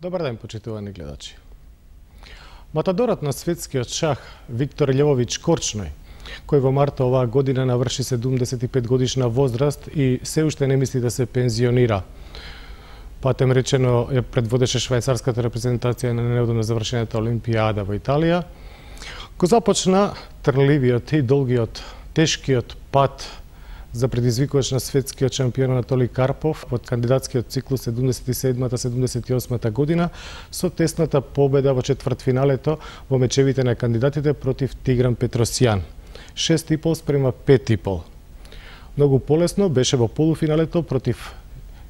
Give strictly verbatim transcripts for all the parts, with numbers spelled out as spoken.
Добар ден, почитувани гледачи. Матадорот на светскиот шах Виктор Љововиќ Корчној, кој во март оваа година наврши седумдесет и пет годишна возраст и се уште не мисли да се пензионира. Патем речено ја предводеше швајцарската репрезентација на неодамно завршената Олимпијада во Италија, го започна трливиот и долгиот, тешкиот пат за предизвикувач на светскиот шампион Анатолиј Карпов од кандидатскиот циклус седумдесет и седма седумдесет и осма година со тесната победа во четвртфиналето во мечевите на кандидатите против Тигран Петросјан. шест и пол спрема пет и пол. Многу полесно беше во полуфиналето против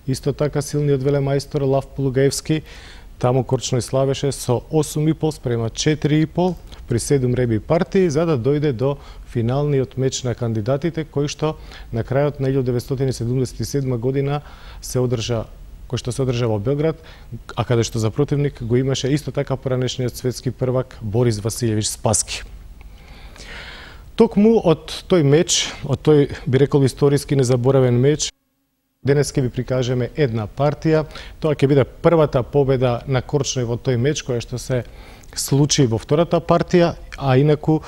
исто така силниот велемајстор Лав Полугаевски. Таму Корчној славеше со осум и пол спрема четири и пол при седум реби партии, за да дојде до финалниот меч на кандидатите, кој што на крајот на илјадум деветстотини седумдесет и седма година се одржа, кој што се одржа во Белград, а каде што за противник го имаше исто така поранешниот светски првак Борис Василевиќ Спаски. Токму од тој меч, од тој би рекол историски незаборавен меч, денес ќе ви прикажеме една партија. Тоа ќе биде првата победа на Корчној во тој меч, која што се случи во втората партија, а инаку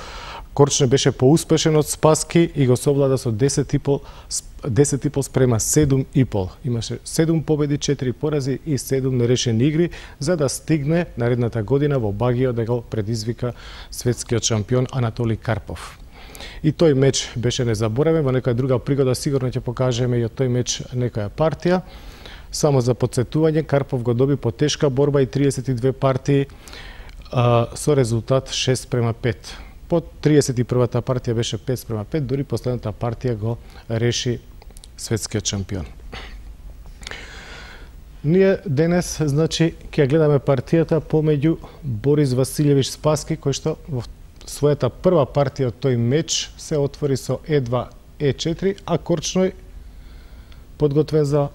Корчној беше поуспешен од Спаски и го совлада со десет и пол спрема седум и пол. Имаше седум победи, четири порази и седум нерешени игри, за да стигне наредната година во Багио да го предизвика светскиот шампион Анатолиј Карпов. И тој меч беше незаборавен, во некоја друга пригода сигурно ќе покажеме и од тој меч некоја партија. Само за потсетување, Карпов го доби по тешка борба и триесет и две партии а, со резултат шест спрема пет. По триесет и првата партија беше пет спрема пет, дури последната партија го реши светскиот шампион. Ние денес, значи, ќе гледаме партијата помеѓу Борис Василевиќ Спаски, кој што во својата прва партија од тој меч се отвори со е два е четири, а Корчној, подготвен за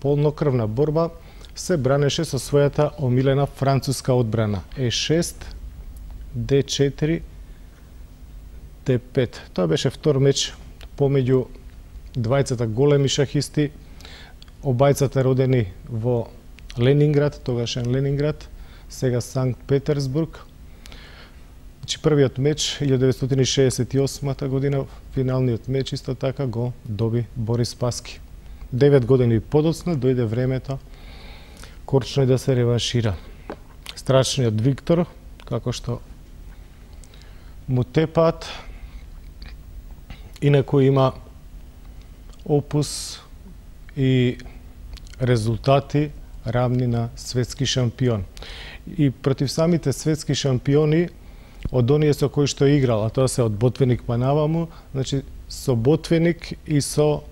полнокрвна борба, се бранеше со својата омилена француска одбрана е шест, де четири, де пет. Тоа беше втор меч помеѓу двајцата големи шахисти, обајцата родени во Ленинград, тогашен Ленинград, сега Санкт Петерсбург. Значи, првиот меч, илјадум деветстотини шеесет и осма година, финалниот меч исто така го доби Борис Спаски. Девет години подоцна дојде времето Корчној да се реваншира. Страшниот Виктор, како што му тепаат, инаку има опус и резултати равни на светски шампион. И против самите светски шампиони, од оние со кои што играл, а тоа се од Ботвеник па наваму, значи со Ботвеник и со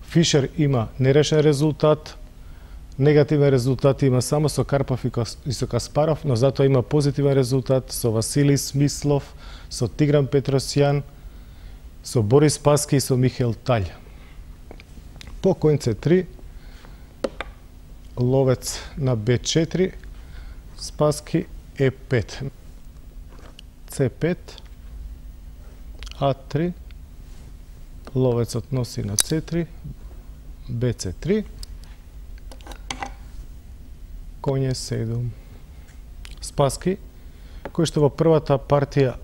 Фишер има нерешен резултат, негативен резултат има само со Карпов и со Каспаров, но затоа има позитивен резултат со Василий Смислов, со Тигран Петросјан, со Борис Спаски и со Михаил Таљ. По коњ це три, ловец на бе четири, Спаски е пет. це пет, а три, ловецот носи на це три, бе це три, коње седум. Спаски, кој што во првата партија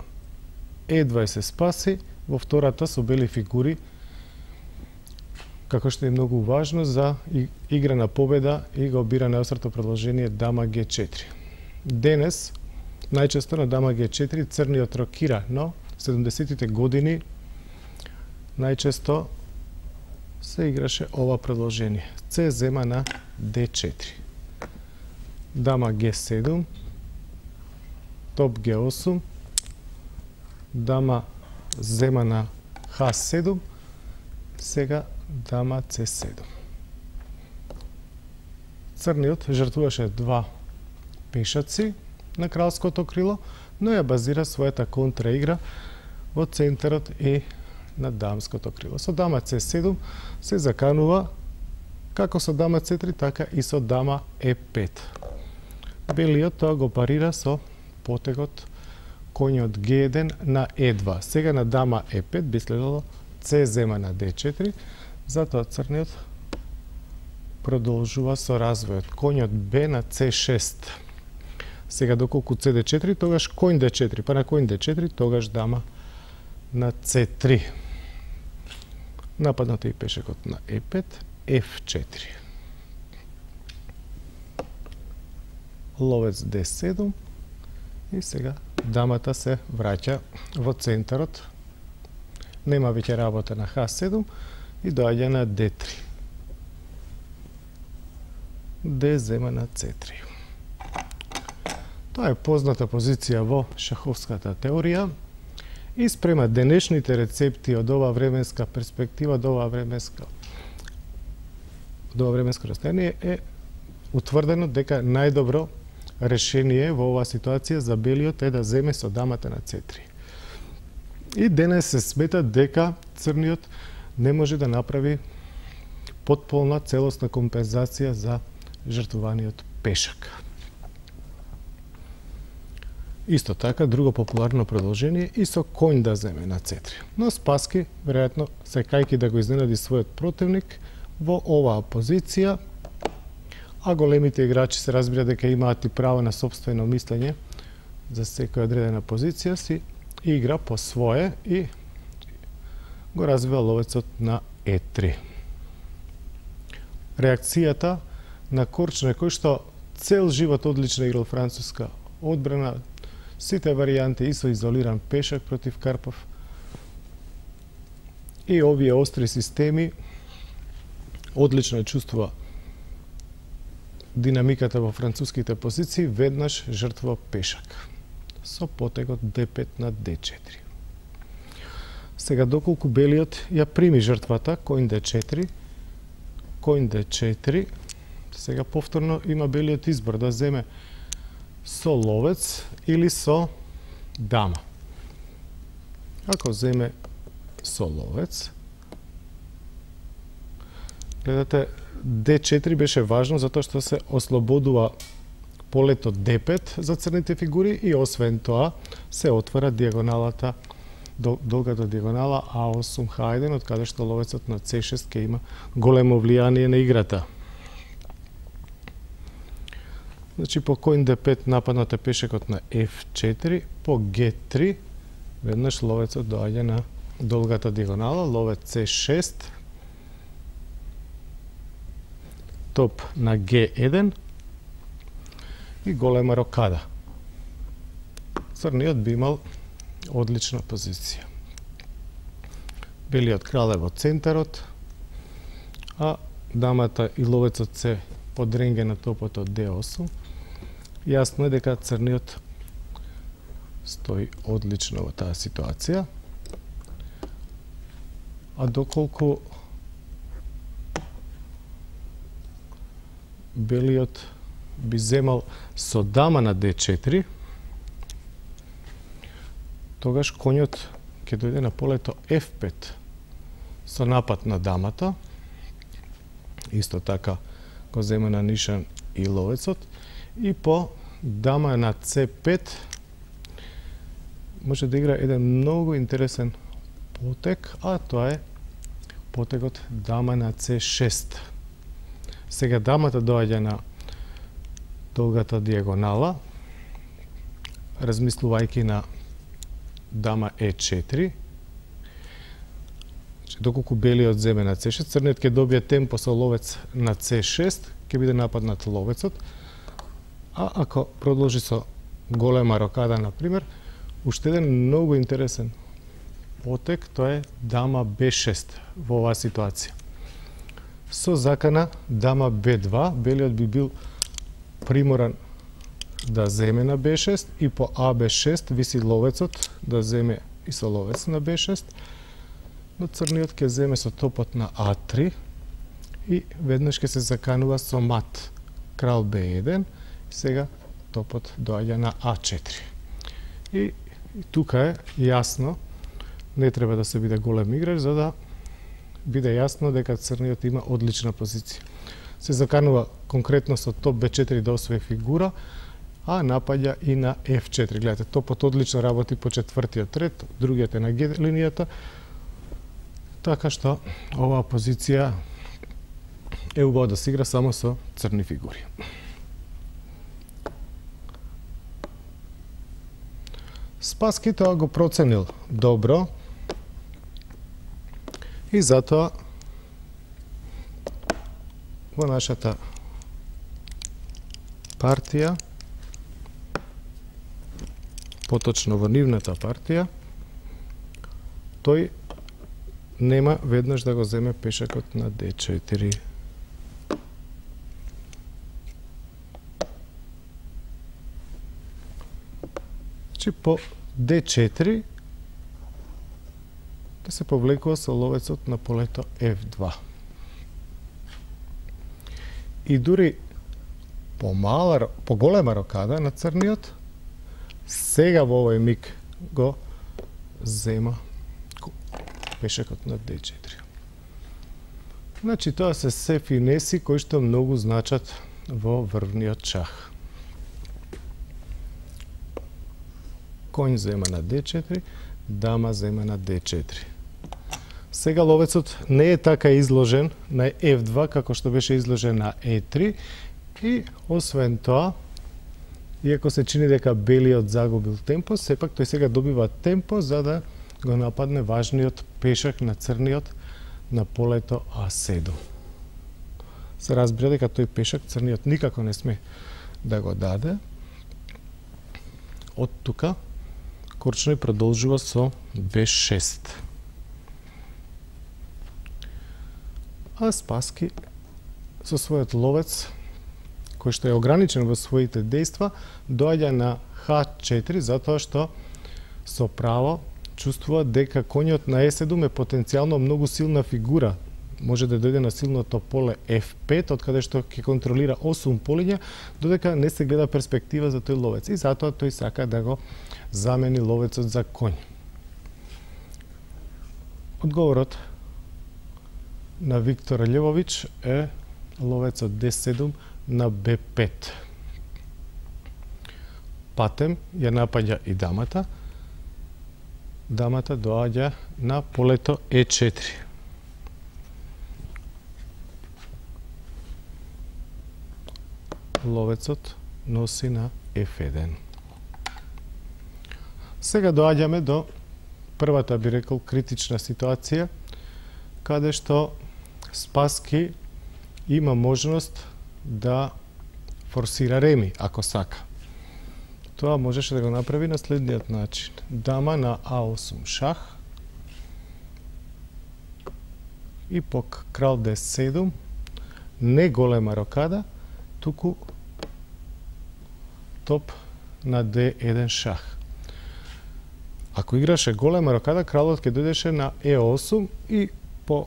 едва се спаси, во втората со бели фигури, како што е многу важно за игра на победа и го обира најострото продолжение дама ге четири. Денес, најчесто на дама ге четири црниот рокира, но седумдесетите години најчесто се играше ова продолжение. Це зема на де четири. Дама ге седум, топ ге осум, дама зема на ха седум, сега дама це седум. Црниот жртвуваше два пешаци на кралското крило, но ја базира својата контраигра во центарот и на дамското крило. Со дама це седум се заканува како со дама це три, така и со дама е пет. Белиот тоа го парира со потегот коњот ге еден на е два. Сега на дама е пет би следело це зема на де четири, затоа црниот продолжува со развојот. Коњот Б на С шест. Сега доколку С Д четири, тогаш коњ Д четири, па на коњ Д четири, тогаш дама на С три. Нападнато и пешекот на Е пет, Ф четири. Ловец Д седум и сега дамата се враќа во центарот. Нема веќе работа на Х седум и доаѓа на Д три. Д зема на С три. Тоа е позната позиција во шаховската теорија и спрема денешните рецепти од оваа временска перспектива, од оваа временска од ова временско растојание е утврдено дека најдобро решение во оваа ситуација за белиот е да земе со дамата на С три. И денес се смета дека црниот не може да направи потполна целосна компензација за жртвуваниот пешак. Исто така, друго популарно продолжение и со коњ да земе на С три. Но Спаски, веројатно, сакајќи да го изненади својот противник во оваа позиција, а големите играчи се разбира дека имаат и право на сопствено мислење за секоја одредена позиција, си игра по свое и го развива ловецот на Е три. Реакцијата на Корчној, кој што цел живот одлично играл француска одбрана, сите варијанти и со изолиран пешак против Карпов и овие остри системи, одлично ја чувствува динамиката во француските позиции, веднаш жртва пешак со потегот Д пет на Д четири. Сега доколку белиот ја прими жртвата, коњ Д четири, коњ Д четири, сега повторно има белиот избор да земе со ловец или со дама. Ако земе со ловец, гледате, Д четири беше важно затоа што се ослободува полето Д пет за црните фигури и освен тоа се отвара диагоналата, долгата диагонала А осум Х еден, од каде што ловецот на С шест ќе има големо влијание на играта. Значи по коњ Д пет нападнат е пешекот на Ф четири, по Г три веднаш ловецот доаѓа на долгата диагонала, ловец С шест, топ на Г еден и голема рокада. Црниот би имал одлична позиција. Белиот крал е во центарот, а дамата и ловецот се под ренге на топот од Д осум. Јасно е дека црниот стои одлично во таа ситуација. А доколку белиот би земал со дама на Д четири, тогаш коњот ќе дојде на полето Ф пет со напад на дамата. Исто така го зема на нишан и ловецот. И по дама на С пет може да игра еден многу интересен потег, а тоа е потегот дама на С шест. Сега дамата доаѓа на долгата диагонала, размислувајќи на дама Е четири. Доколку белиот земе на С шест, црниот ќе добие темпо со ловец на С шест, ќе биде нападнат ловецот, а ако продолжи со голема рокада, например, уште еден многу интересен потег, тоа е дама Б шест во оваа ситуација. Со закана дама Б два, белиот би бил приморан да земе на Б шест и по А Б шест виси ловецот да земе и со ловец на Б шест, но црниот ќе земе со топот на А три и веднаш ќе се заканува со мат крал Б еден, сега топот доаѓа на А четири. И, и тука е јасно, не треба да се биде голем играч за да биде јасно дека црниот има одлична позиција. Се заканува конкретно со топ Б четири да освои фигура, а напаѓа и на Ф четири. Гледате, топот одлично работи по четвртиот ред, другиот е на Г линијата, така што оваа позиција е убаво да се игра само со црни фигури. Спаски тоа го проценил добро и затоа во нашата партија, поточно во нивната партија, тој нема веднаш да го земе пешакот на Д четири. Значи по Д четири да се повлекува со ловецот на полето Ф два. И дури по мала, по голема рокада на црниот, сега во овој миг го зема пешакот на Д четири. Значи тоа се се финеси кои што многу значат во врвниот шах. Коњ зема на Д четири, дама зема на Д четири. Сега ловецот не е така изложен на Ф два како што беше изложен на Е три и освен тоа, иако се чини дека белиот загубил темпо, сепак тој сега добива темпо за да го нападне важниот пешак на црниот на полето А седум. Се разбира дека тој пешак црниот никако не сме да го даде. Од тука Корчној продолжува со Б шест. А Спаски со својот ловец, кој што е ограничен во своите дејства, доаѓа на Х четири затоа што со право чувствува дека коњот на Е седум е потенцијално многу силна фигура. Може да дојде на силното поле Ф пет, од каде што ќе контролира осум полиња, додека не се гледа перспектива за тој ловец. И затоа тој сака да го замени ловецот за коњ. Одговорот на Виктор Љововиќ е ловецот Д седум на Б пет. Патем ја напаѓа и дамата. Дамата доаѓа на полето Е четири. Ловецот носи на Ф еден. Сега доаѓаме до првата, би рекол, критична ситуација, каде што Спаски има можност да форсира реми, ако сака. Тоа можеше да го направи на следниот начин. Дама на А осум шах и по крал Д седум, не голема рокада, туку топ на Д еден шах. Ако играше голема рокада, кралот ќе дојдеше на Е осум и по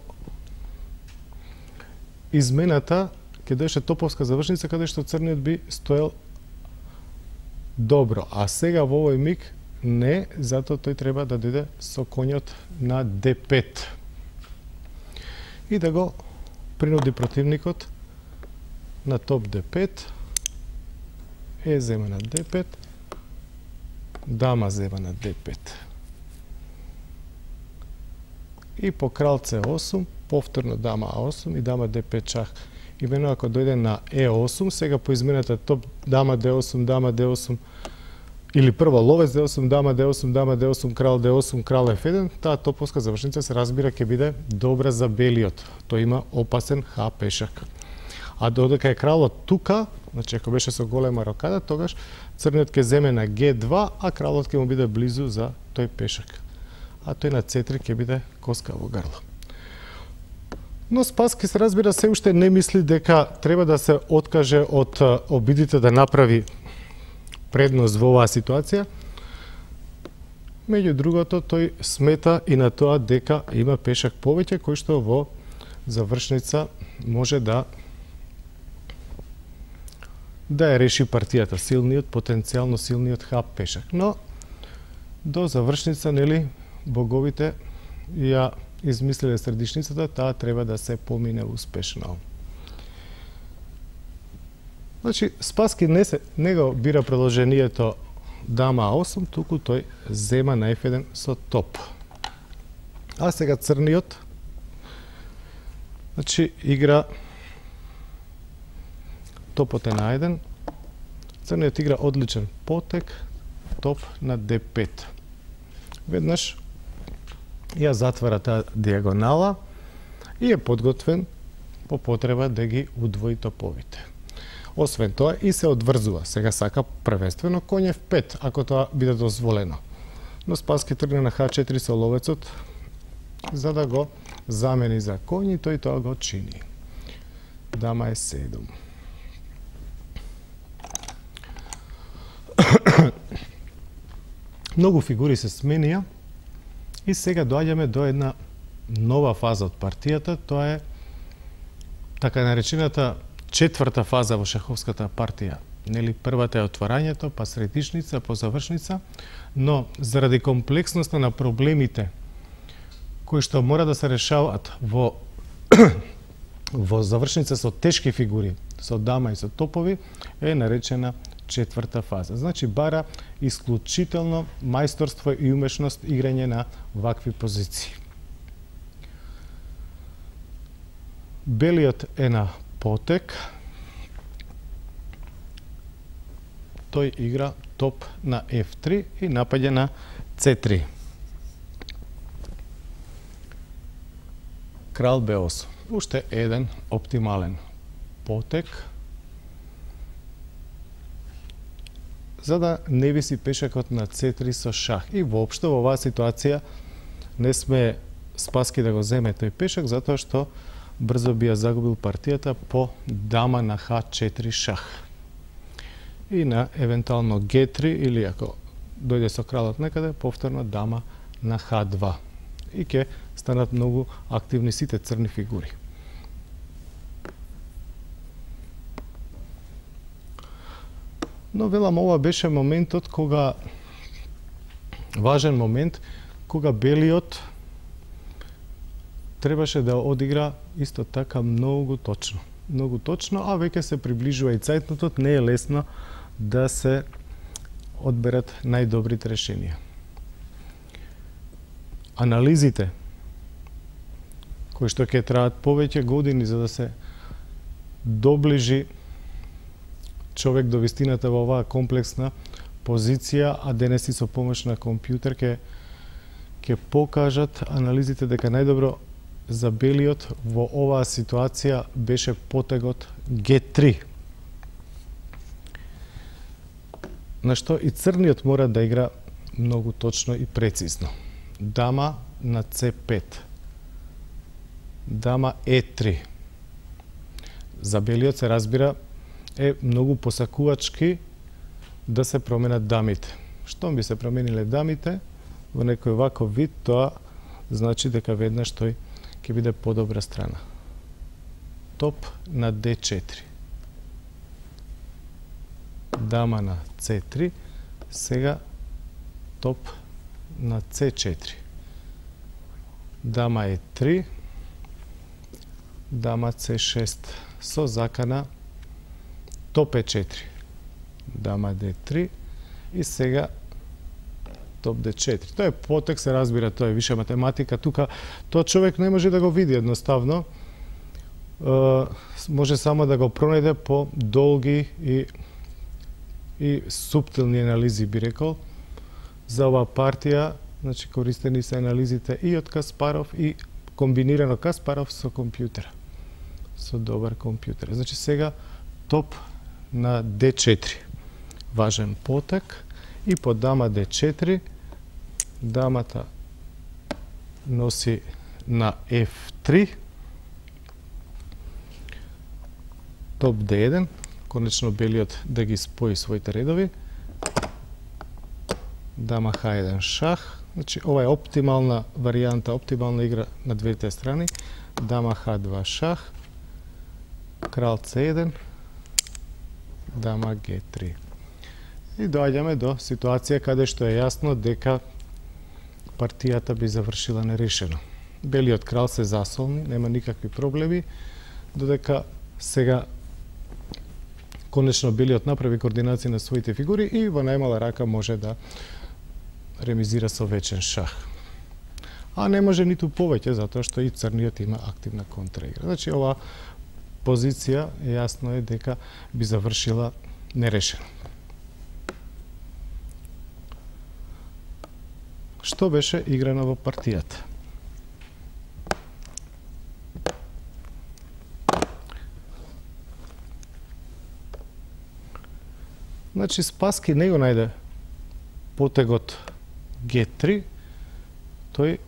измената ќе дојдеше топовска завршница каде што црниот би стоел добро. А сега во овој миг не, затоа тој треба да дојде со коњот на Д пет. И да го принуди противникот на топ Д пет. Е зема на Д пет. Дама зема на Д пет. И по крал С осум, повторно дама А осум и дама Д пет шах. Имено ако дојде на Е осум, сега по измената топ дама Д осум, дама Д осум, или прво ловец Д осум, дама Д осум, дама Д осум, крал Д осум, крал Ф еден, таа топовска завршница се разбира ќе биде добра за белиот. Тој има опасен Х пешак. А додека е кралот тука, значи ако беше со голема рокада, тогаш црниот ќе земе на Г два, а кралот ќе му биде близу за тој пешак. А тој на С три ќе биде коска во грло. Но Спаски се разбира се уште не мисли дека треба да се откаже од обидите да направи предност во оваа ситуација. Меѓу другото, тој смета и на тоа дека има пешак повеќе кој што во завршница може да да ја реши партијата, силниот, потенцијално силниот Х пешак. Но до завршница, нели, боговите ја измислиле средишницата, таа треба да се помине успешно. Значи, Спаски не, се, не го бира продолжението дама А осум, туку тој зема на Ф еден со топ. А сега црниот, значи, игра топот е на еден, црниот игра одличен потек, топ на де пет. Веднаш ја затвара таа диагонала и е подготвен по потреба да ги удвои топовите. Освен тоа и се одврзува. Сега сака првенствено коњ еф пет, ако тоа биде дозволено. Но Спаски тргна на ха четири со ловецот за да го замени за коњ и тој тоа го чини. Дама е седум. Многу фигури се сменија и сега доаѓаме до една нова фаза од партијата, тоа е така наречената четврта фаза во шаховската партија. Нели првата е отварањето, па средишница, па завршница, но заради комплексноста на проблемите кои што мора да се решаваат во во завршница со тешки фигури, со дама и со топови, е наречена четврта фаза. Значи бара исклучително мајсторство и умешност играње на вакви позиции. Белиот е на потек. Тој игра топ на еф три и напаѓа на це три. Крал бе осум. Уште еден оптимален потек, за да не виси пешакот на це три со шах. И воопшто во оваа ситуација не сме Спаски да го земе тој пешак, затоа што брзо би ја загубил партијата по дама на ха четири шах. И на евентуално ге три или ако дојде со кралот некаде, повторно дама на ха два. И ќе станат многу активни сите црни фигури. Но велам, ова беше моментот кога важен момент кога белиот требаше да одигра исто така многу точно. Многу точно, а веќе се приближува и цајтнотот, не е лесно да се одберат најдобрите решенија. Анализите кои што ќе траат повеќе години за да се доближи човек до вистината во оваа комплексна позиција, а денес и со помош на компјутер ќе ќе покажат анализите дека најдобро за белиот во оваа ситуација беше потегот ге три. На што и црниот мора да игра многу точно и прецизно. Дама на це пет. Дама е три. За белиот се разбира е многу посакувачки да се променат дамите. Штом би се промениле дамите во некој ваков вид, тоа значи дека веднаш тој ќе биде подобра страна. Топ на де четири. Дама на це три, сега топ на це четири. Дама е три, дама це шест со закана топ е четири. Дама де три и сега топ де четири. Тоа е потек, се разбира, тоа е виша математика. Тука тоа човек не може да го види едноставно. Е, може само да го пронајде по долги и и суптилни анализи, би рекол, за оваа партија. Значи, користени се анализите и од Каспаров и комбинирано Каспаров со компјутера. Со добар компјутер. Значи, сега топ на де четири. Важен потек и по дама де четири дамата носи на еф три. Топ де еден. Конечно белиот да ги спои своите редови. Дама ха еден шах. Значи, ова е оптимална варијанта, оптимална игра на двете страни. Дама ха два шах. Крал це еден. Дама ге три. И доаѓаме до ситуација каде што е јасно дека партијата би завршила нерешено. Белиот крал се засолни, нема никакви проблеми, додека сега конечно белиот направи координација на своите фигури и во најмала рака може да ремизира со вечен шах. А не може ниту повеќе, затоа што и црниот има активна контраигра. Значи, ова позиција, јасно е дека би завршила нерешено. Што беше играно во партијата? Значи, Спаски не го најде потегот Г три, тој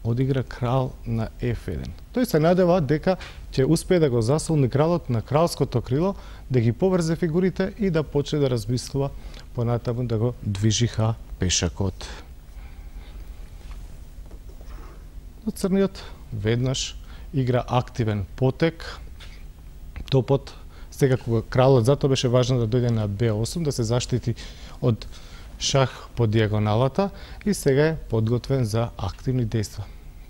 одигра крал на Ф еден. Тој се надева дека ќе успее да го засолни кралот на кралското крило, да ги поврзе фигурите и да почне да размислува понатаму да го движиха пешакот. Но црниот веднаш игра активен потек, топот, сега кога кралот затоа беше важно да дојде на Б осум, да се заштити од шах по дијагоналата и сега е подготвен за активни дејства.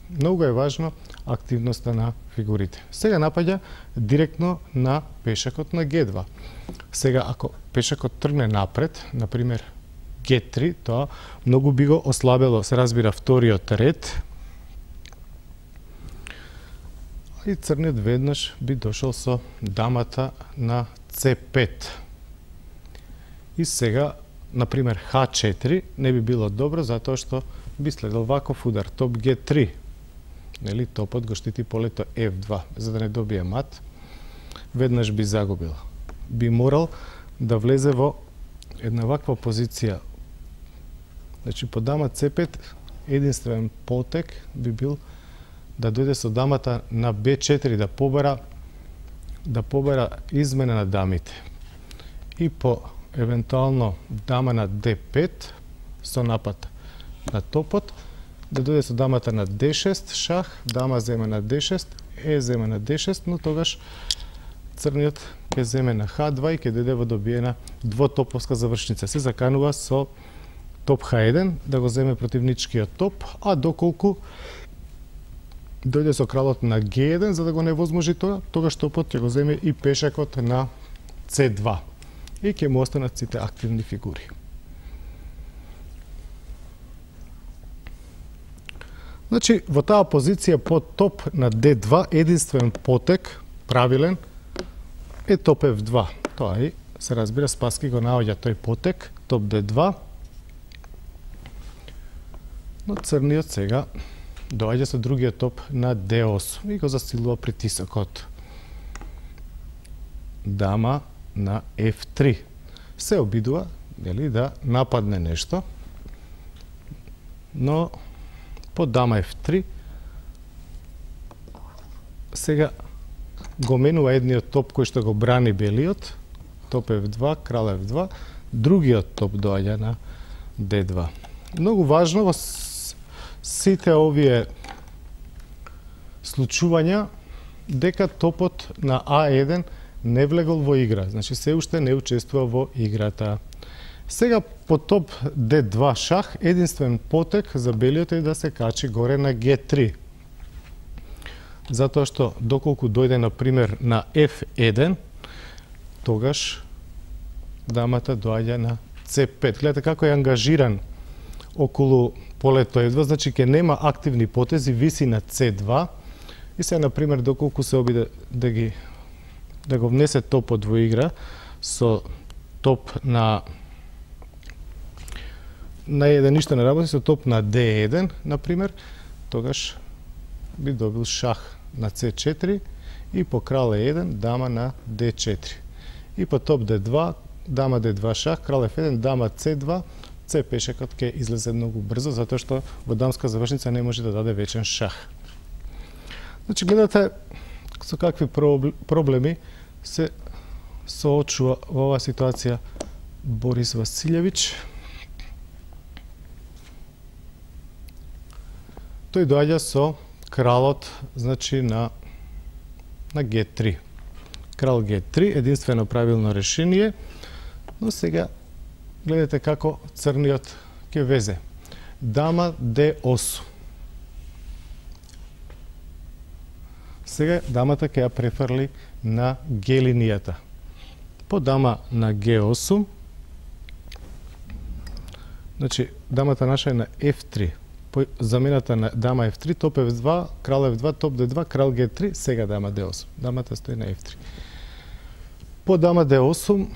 Многу е важно активноста на фигурите. Сега напаѓа директно на пешакот на Г два. Сега, ако пешакот тргне напред, например Г три, тоа многу би го ослабело, се разбира, вториот ред. И црниот веднаш би дошол со дамата на С пет. И сега, например, Х четири не би било добро, затоа што би следел ваков удар, топ Г три. Нели, топот го штити полето Ф два, за да не добие мат. Веднаш би загубил. Би морал да влезе во една ваква позиција. Значи, по дама С пет, единствен потек би бил да дојде со дамата на Б четири, да побара да побара измена на дамите. И по евентуално дама на Д пет со напад на топот, да дојде со дамата на Д шест, шах, дама земе на Д шест, Е земе на Д шест, но тогаш црниот ќе земе на Х два и ќе дојде во добиена двотоповска завршница. Се заканува со топ Х еден да го земе противничкиот топ, а доколку дојде со кралот на Г еден за да го невозможи тоа, тогаш топот ќе го земе и пешакот на С два и ќе му останат сите активни фигури. Значи, во таа позиција под топ на Д два, единствен потек, правилен, е топ Ф два. Тоа и се разбира, Спаски го наоѓа тој потек, топ Д два. Но црниот сега доаѓа со другиот топ на Д осум и го засилува притисокот. Дама на Ф три. Се обидува, нели, да нападне нешто, но по дама Ф три сега го менува едниот топ кој што го брани белиот, топ Ф два, крал Ф два, другиот топ доаѓа на Д два. Многу важно во сите овие случувања дека топот на А еден не влегол во игра, значи се уште не учествува во играта. Сега по топ Д два шах, единствен потек за белиот е да се качи горе на Г три. Затоа што доколку дојде на пример на Ф еден, тогаш дамата доаѓа на С пет. Гледате како е ангажиран околу полето Ф два, значи ќе нема активни потези, виси на С два. И сега, например, доколку се обиде да ги да го внесе топот во игра со топ на на еден ништо не работи, со топ на Д еден, например, тогаш би добил шах на С четири и по крал Е еден, дама на Д четири. И по топ Д два, дама Д два шах, крал Ф еден, дама С два, С пешакот ќе излезе многу брзо, затоа што во дамска завршница не може да даде вечен шах. Значи, гледате со какви проблеми се соочува во оваа ситуација Борис Василевиќ. Тој доаѓа со кралот, значи на на Г три. Крал Г три, единствено правилно решение, но сега гледате како црниот ќе везе. Дама Д осум. Сега дамата ќе ја префрли на Г линијата. По дама на Г осум, значи дамата наша е на Ф три. замената на дама еф три, топ еф два, крал еф два, топ де два, крал ге три, сега дама де осум. Дамата стои на еф три. По дама де осум,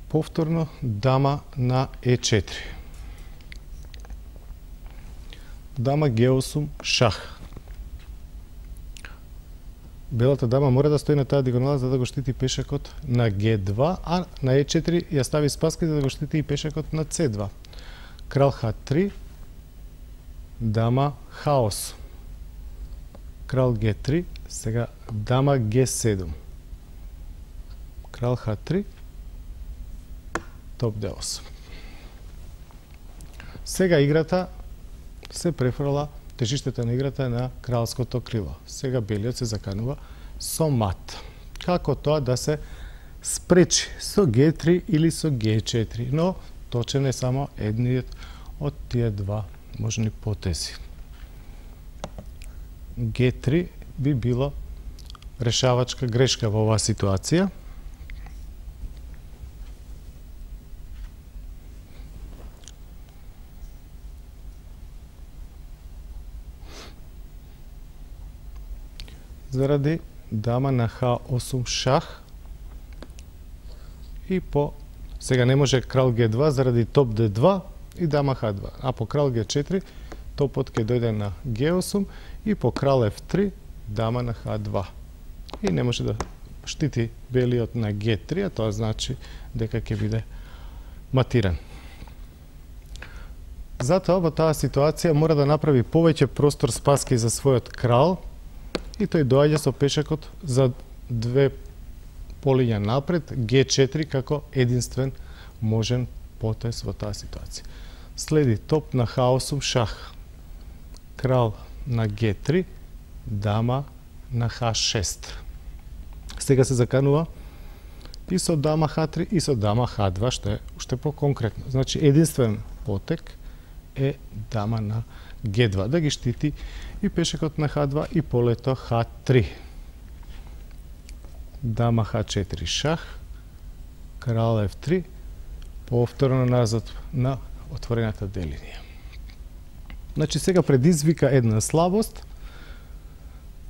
повторно дама на е четири. Дама ге осум, шах. Белата дама мора да стои на таа диагонала за да го штити пешакот на ге два, а на е четири ја стави спаски за да го штити и пешакот на це два. Крал ха три, дама ха осум. Крал ге три, сега дама ге седум. Крал ха три, топ де осум. Сега играта се префрла, тежиштето на играта на кралското крило. Сега белиот се заканува со мат. Како тоа да се спречи со ге три или со ге четири, но точен е само едниот од тие два можни потези. ге три би било решавачка грешка во оваа ситуација. Заради дама на ха осум шах и по сега не може крал ге два заради топ де два и дама ха два, а по крал ге четири топот ќе дојде на ге осум и по крал еф три дама на ха два. И не може да штити белиот на ге три, а тоа значи дека ќе биде матиран. Затоа во таа ситуација мора да направи повеќе простор спаски за својот крал и тој доаѓа со пешакот за две полиња напред, ге четири како единствен можен потез во таа ситуација. Следи топ на ха осум шах, крал на ге три, дама на ха шест. Сега се заканува и со дама ха три и со дама ха два, што е уште по-конкретно. Значи единствен потек е дама на ге два, да ги штити и пешакот на ха два и полето ха три. Дама ха четири шах, крал еф три, повторно назад на отворената делинија. Значи сега предизвика една слабост,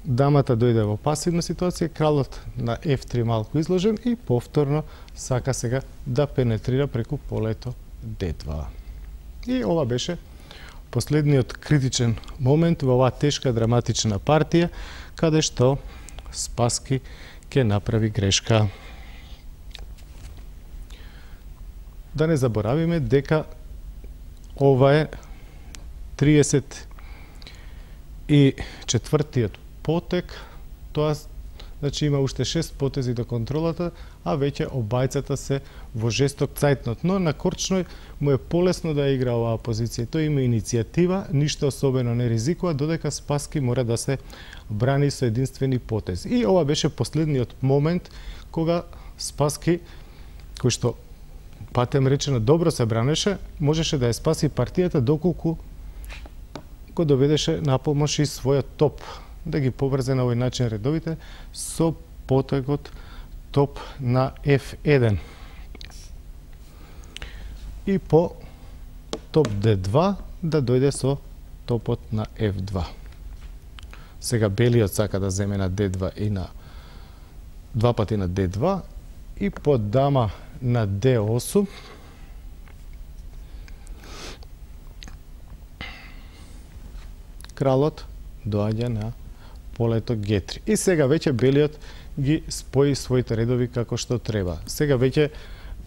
дамата дојде во пасивна ситуација, кралот на еф три малку изложен и повторно сака сега да пенетрира преку полето де два. И ова беше последниот критичен момент во оваа тешка драматична партија, каде што Спаски ќе направи грешка. Да не заборавиме дека ова е триесет и четвртиот потек, тоа значи има уште шест потези до контролата, а веќе обајцата се во жесток цајтнот, но на Корчној му е полесно да игра оваа позиција. Тој има иницијатива, ништо особено не ризикува, додека Спаски мора да се брани со единствени потези. И ова беше последниот момент кога Спаски, кој што патем речено добро се бранеше, можеше да ја спаси партијата доколку го доведеше на помош и својот топ, да ги поврзе на овој начин редовите со потегот топ на еф еден. И по топ де два да дојде со топот на еф два. Сега белиот сака да земе на де два и на два пати на де два и по дама на де осум кралот доаѓа на полето ге три. И сега веќе белиот ги спои своите редови како што треба. Сега веќе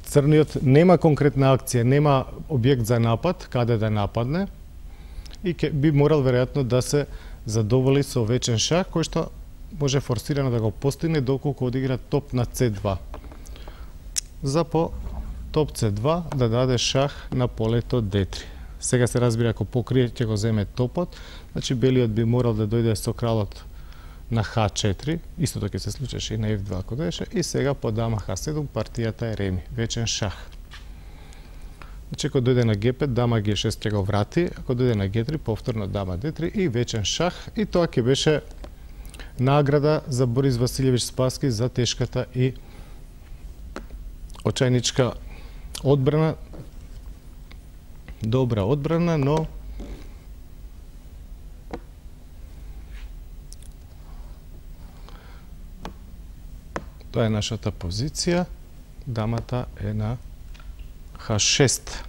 црниот нема конкретна акција, нема објект за напад, каде да нападне и ке, би морал веројатно да се задоволи со вечен шах, кој што може форсирано да го постигне доколку одигра топ на це два. За по топ це два да даде шах на полето де три. Сега се разбира, ако покрие ќе го земе топот, значи белиот би морал да дојде со кралот на ха четири, истото ќе се случеше и на еф два ако доеше, и сега по дама ха седум партијата е реми, вечен шах. Значи ако дојде на ге пет, дама ге шест ќе го врати, ако дојде на ге три, повторно дама де три и вечен шах, и тоа ќе беше награда за Борис Василјевич Спаски за тешката и очајничка одбрана, добра одбрана, но Тоа е нашата позиција. Дамата е на ха шест,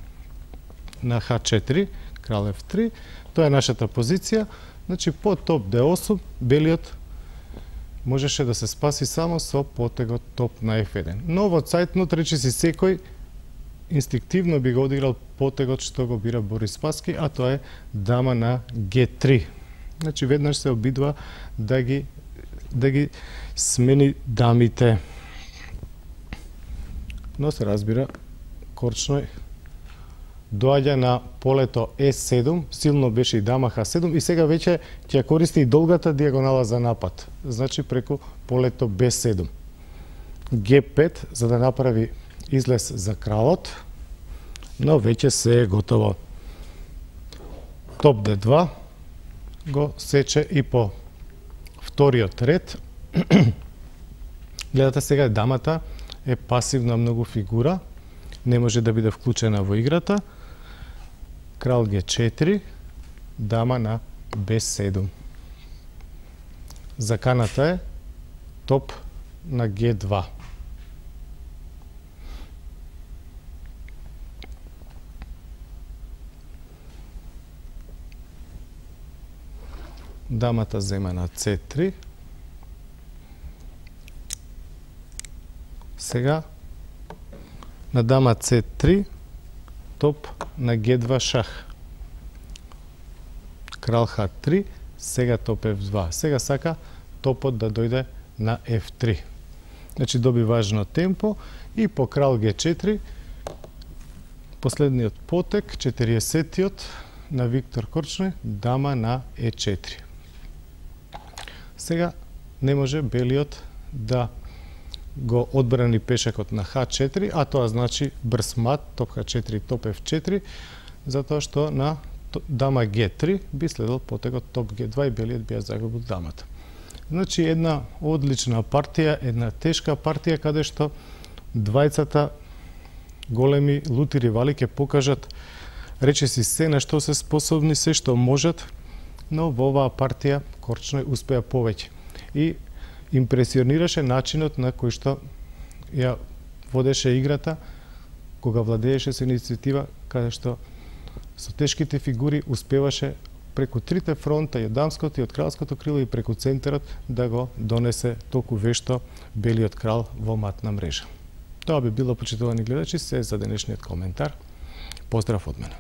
на ха четири, крал еф три. Тоа е нашата позиција. Значи, по топ де осум, белиот можеше да се спаси само со потегот топ на еф еден. Но во цајтнот, речиси секој, инстинктивно би го одиграл потегот што го бира Борис Спасски, а тоа е дама на ге три. Значи, веднаш се обидува да ги, да ги смени дамите. Но се разбира, Корчној доаѓа на полето е седум, силно беше и дама ха седум и сега веќе ќе користи и долгата диагонала за напад. Значи преку полето бе седум. ге пет за да направи излез за кралот, но веќе се е готово. Топ де два го сече и по вториот ред. Гледате сега, дамата е пасивна многу фигура, не може да биде вклучена во играта. Крал ге четири, дама на бе седум. Заканата е топ на ге два. Дамата зема на це три. Сега на дама це три, топ на ге два шах. Крал ха три, сега топ еф два. Сега сака топот да дојде на еф три. Значи доби важно темпо и по крал ге четири, последниот потек, четириесеттиот на Виктор Корчној, дама на е четири. Сега не може белиот да го одбрани пешакот на ха четири, а тоа значи брз мат, топ ха четири, топ еф четири, затоа што на дама ге три би следел потегот топ ге два и белиот би ја загубил дамата. Значи една одлична партија, една тешка партија каде што двајцата големи лути ривали ќе покажат речиси се на што се способни, се што можат, но во оваа партија Корчној успеа повеќе. И импресионираше начинот на кој што ја водеше играта, кога владееше со иницијатива, каде што со тешките фигури успеваше преку трите фронта, и од дамското, и од кралското крило, и преку центарот, да го донесе толку вешто белиот крал во матна мрежа. Тоа би било, почитувани гледачи, се за денешниот коментар. Поздрав од мене.